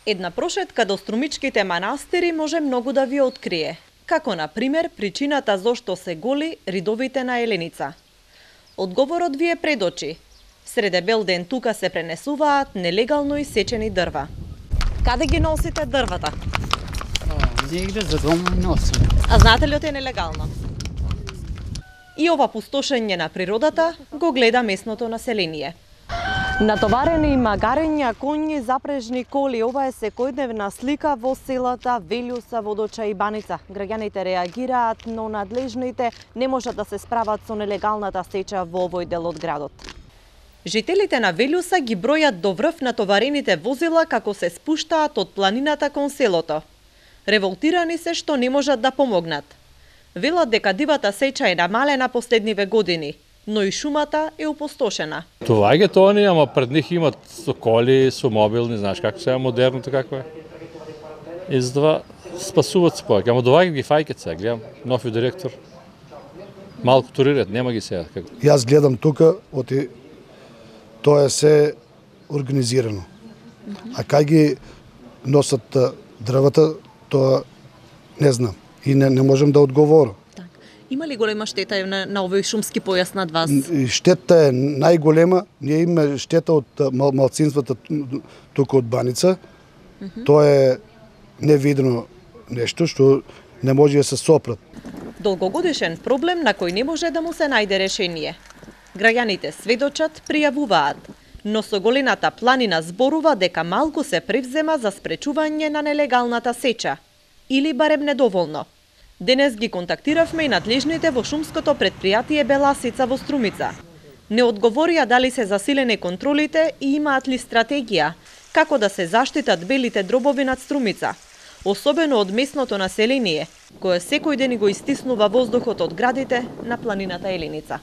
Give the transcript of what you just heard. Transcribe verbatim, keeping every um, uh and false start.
Една прошетка до струмичките манастири може многу да ви открие, како на пример причината зошто се голи ридовите на Еленица. Одговорот ви е пред очи. Среде бел ден тука се пренесуваат нелегално исечени дрва. Каде ги носите дрвата? Негде за дома носим. А знаете ли оте нелегално? И ова пустошење на природата го гледа местното население. Натоварени магарења, коњи, запрежни коли, ова е секојдневна слика во селата Велјуса, Водоча и Баница. Граѓаните реагираат, но надлежните не можат да се справат со нелегалната сеча во овој дел од градот. Жителите на Велјуса ги бројат до врв натоварените возила како се спуштаат од планината кон селото. Револтирани се што не можат да помогнат. Велат дека дивата сеча е намалена последниве години, но и шумата е опустошена. Луѓето они, ама пред них имат со коли, со мобилни, знаеш како сега модерното како е. И затоа спасуват се повеќе. Ама доваѓаат ги фајкет сега, гледам, нови директор. Малку турират, нема ги сега. Јас гледам тука, оти тоа е се организирано. А кај ги носат дрвата, тоа не знам и не, не можем да одговорам. Има ли голема штета на, на овој шумски појас над вас? Штета е најголема. Ние имаме штета од мал, малцинствата тука од Баница. Mm -hmm. Тоа е невидно нешто што не може да се сопрат. Долгогодишен проблем на кој не може да му се најде решение. Граѓаните сведочат, пријавуваат, но со голината планина зборува дека малку се превзема за спречување на нелегалната сеча. Или барем недоволно. Денес ги контактиравме и надлежните во шумското предпријатие Беласица во Струмица. Не одговорија дали се засилени контролите и имаат ли стратегија како да се заштитат белите дробови над Струмица, особено од местното население, кое секој ден го истиснува воздухот од градите на планината Еленица.